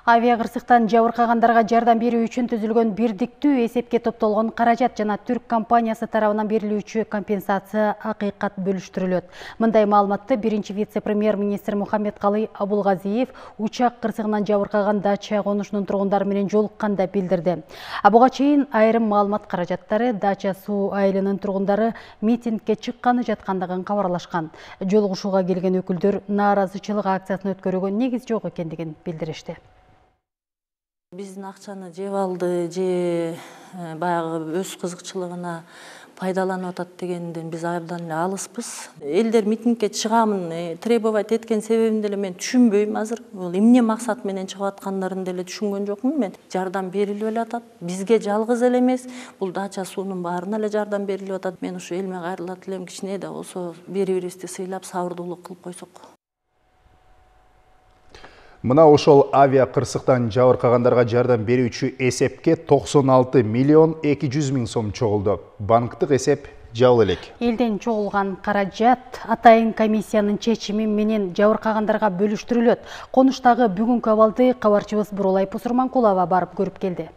Авиакырсыктан жабыркагандарга жардам берүү үчүн түзүлгөн бирдиктүү эсепке топтолгон каражат жана Түрк компаниясы тарабынан берилүүчү компенсация акыйкат бөлүштүрүлөт. Мындай маалыматты биринчи вице-премьер-министр Мухаммедкалый Абулгазиев учак кырсыгынан жабыркаган дача конушунун тургундары менен жолукканда билдирди. Буга чейин айрым маалымат каражаттары Дача суу айылынын тургундары митингге чыкканы жаткандыгын кабарлашкан. Жолугушууга келген өкүлдөр нааразычылык акциясын өткөрүүгө негиз жок экендигин билдиришти. Биздин акчаны жеп алды, же баягы өз кызыкчылыгына пайдаланып атат дегенден биз абдан эле алыспыз. Элдер митингге чыгамын требовать эткен себебин деле мен түшүнбөйм азыр. Бул эмне максат менен чыгып аткандарын деле түшүнгөн жокмун мен. Жардам берилип эле атат. Бизге жалгыз эле эмес, бул Дача суунун баарына эле жардам берилип атат. Мен ушу элиме кайрылат элем, кичине да болсо бири-бирибизди сыйлап сабырдуулук кылып койсок. Мына ошол авиакырсыктан жабыркагандарга жардам берүүчү эсепке 96 миллион 200 миң сом чогулду. Банктык эсеп жабыл элек. Элден чогулган каражат атайын комиссиянын чечими менен жабыркагандарга бөлүштүрүлөт. Конуштагы бүгүнкү абалды кабарчыбыз Бурулай Пусурманкулова барып көрүп келди.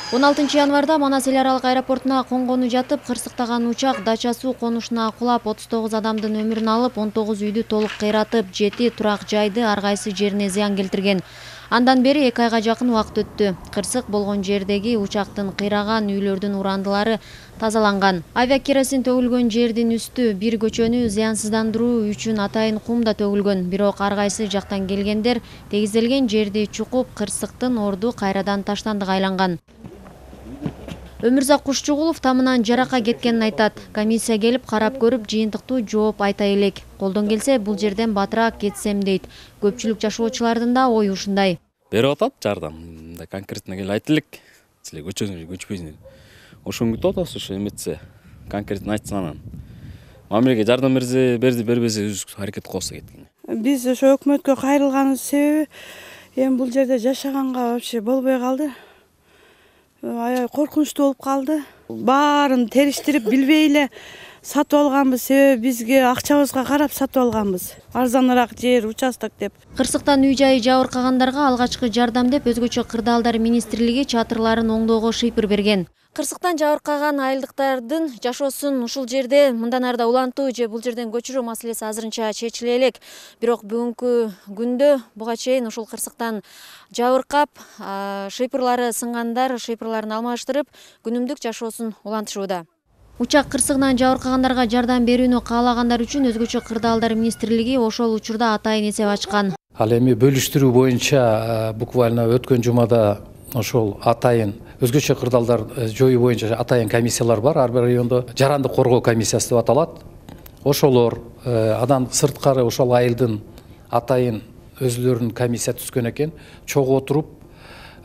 16 январда Манас эл аралык аэропортуна конгону жатып, кырсыктаган учак Дача суу конушуна кулап 39 адамдын өмүрүн алып, 19 үйдү толук кыйратып, 7 турак жайды ар кайсы жерине зыян келтирген. Андан бери 2 айга жакын убакыт өттү. Кырсык болгон жердеги учактын кыйраган үйлөрдүн урандылары тазаланган. Авиакеросин төгүлгөн жердин үстү бир көчөнү зыянсыздандыруу үчүн атайын кум да төгүлгөн. Бирок ар кайсы жактан келгендер тегизделген жерди чукуп, кырсыктын орду кайрадан таштандыга айланган. Өмүрзак Кушчугулов тамынан жарака кеткенин айтат. Комиссия келип карап көрүп, жыйынтыктуу жооп айта элек. Колдон келсе, бул жерден батыраак кетсем дейт. Көпчүлүк жашоочулардын да ою ушундай. Берип атат жардам. Конкретно келип айта элек. Силер көчпөйсүңөр. Ошо үмүт атабыз, ошо эметсе. Конкретно айтсын анан. Мамилеге жардам берсе, бербесе өз аракет кылса кеткен. Биз ошо өкмөткө кайрылганыбыз себеби эми бул жерде жашаганга вообще болбой калды. Аябай коркунучтуу болуп калды. Баарын териштирип билбей эле сатып алганбыз, себеби бизге акчабызга карап сатып алганбыз. Арзаныраак жер, участок деп. Кырсыктан үй жайы жабыркагандарга алгачкы жардам деп өзгөчө кырдаалдар министрлиги чатырларын оңдоого шыйпыр берген. Кырсыктан жабыркаган айылдыктардын жашоосун ушул жерде мындан арда улантуу же бул жерден көчүрүү маселеси азырынча чечиле элек. Бирок бүгүнкү күндө буга чейин ушул кырсыктан жабыркап, шыйпырлары сынгандар шыйпырларын алмаштырып, күнүмдүк жашоосун улантышууда. Учак кырсыгынан жабыркагандарга жардам берүүнү каалагандар үчүн өзгөчө кырдаалдар министрлиги ошол учурда атайын эсеп ачкан. Ал эми бөлүштүрүү боюнча буквально өткөн жумада ошол атайын өзгөчө кырдаалдар жоюу боюнча атайын комиссиялар бар. Ар бир райондо жарандык коргоо комиссиясы деп аталат. Ошолор андан сырткары ошол айылдын атайын өзлөрүнүн комиссия түзгөн экен. Чогуу отуруп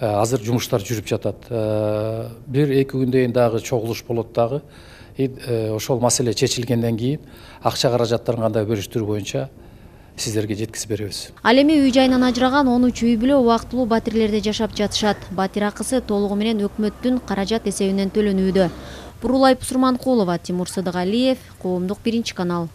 азыр жумуштар жүрүп жатат. 1-2 күндөн дагы чогулуш болот дагы. Ошол маселе чечилгенден кийин акча каражаттарын кандай бөлүштүрүү боюнча сиздерге жеткизип беребиз. Ал эми үй жайынан ажыраган 13 үй бүлө убактылуу батирлерде жашап жатышат. Батир акысы толугу менен өкмөттүн каражат эсебинен төлөнүүдө. Бурулай Пусурманкулова, Тимур Сыдыгалиев, Коомдук 1 канал.